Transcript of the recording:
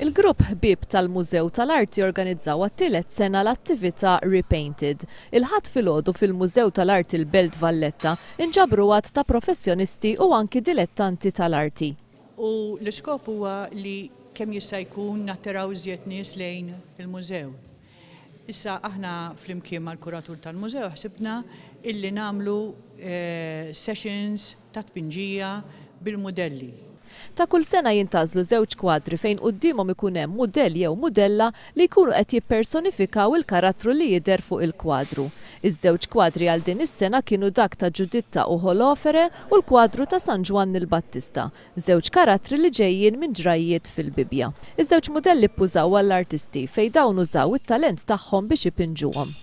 Il-grupp Ħbieb tal-Mużew tal-Arti organizzaw għat-tielet sena l-attività Repainted. Il-Ħadd filgħodu fil-Mużew tal-Arti l-Belt Valletta inġabru għadd ta' professjonisti u anki dilettanti tal-arti. U l-iskop huwa li kemm jista' jkun nattiraw iżjed nies lejn il-mużew. Issa aħna flimkien mal-kuratur tal-mużew ħsibna illi nagħmlu sessions ta' tpinġija bil-mudelli. Ta' kull sena jintgħażlu żewġ kwadri fejn quddiemhom ikun hemm mudell jew mudella li jkunu qed jippersonifikaw il-karattru li jidher fuq il-kwadru. Iż-żewġ kwadri għal din is-sena kienu dak ta' Ġuditta u Holofere u l-kwadru ta' San Ġwann il-Battista, żewġ karattri li ġejjin minn ġrajjiet fil-Bibbja. Iż-żewġ mudelli ppużaw għall-artisti fejn dawn użaw it-talent tagħhom biex ipinġuhom.